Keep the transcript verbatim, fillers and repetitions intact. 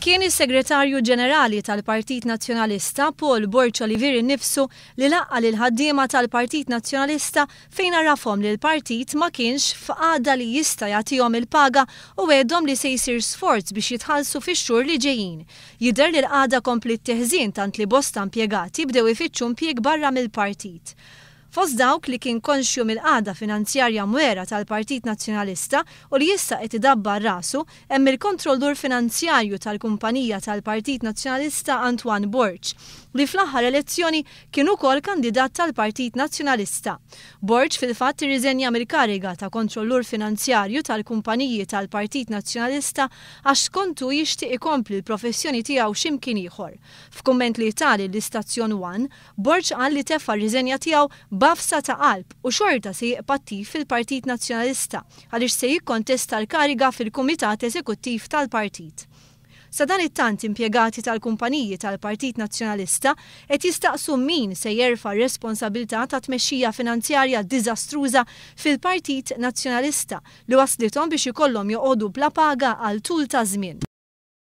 Kien is-Segretarju Ġenerali tal-Partit Nazzjonalista Paul Borg Olivier innifsu li laqqa' lill-ħaddiema tal-Partit Nazzjonalista fejn għarrafhom li l-partit ma kienx f'qagħda li jista' jagħtihom il-paga u wegħedhom li se jsir sforz biex jitħallsu fix-xhur li ġejjin. Jidher li l-qagħda kompliet teħżien tant li bosta impjegati bdew ifittxu impjieg barra mill-partit. Fost dawk li kien konxju mill-qagħda finanzjarja mwera tal-Partit Nazzjonalista u li issa qed idabbar rasu hemm il-kontrollur finanzjarju tal-kumpanija tal-Partit Nazzjonalista Antoine Borg, li fl-aħħar elezzjoni kien ukoll kandidat tal-Partit Nazzjonalista. Borg fil-fatt irriżenja mill-kariga ta' kontrollur finanzjarju tal-kumpaniji tal-Partit Nazzjonalista għax skontu jixtieq ikompli l-professjoni tiegħu x'imkien ieħor. F'kumment li ta lill-istazzjon One, Borg qal li tefa' r-riżenja tiegħu b'għafsa ta' qalb u xorta se jibqa' attiv fil-Partit Nazzjonalista għaliex se jikkontesta l-kariga fil-Kumitat Eżekuttiv tal-Partit. Sadanittant impjegati tal-kumpaniji tal-Partit Nazzjonalista qed jistaqsu min se jerfa' r-responsabilità ta' tmexxija finanzjarja diżastruża fil-Partit Nazzjonalista li waslithom biex ikollhom joqogħdu bla paga għal tul ta' żmien.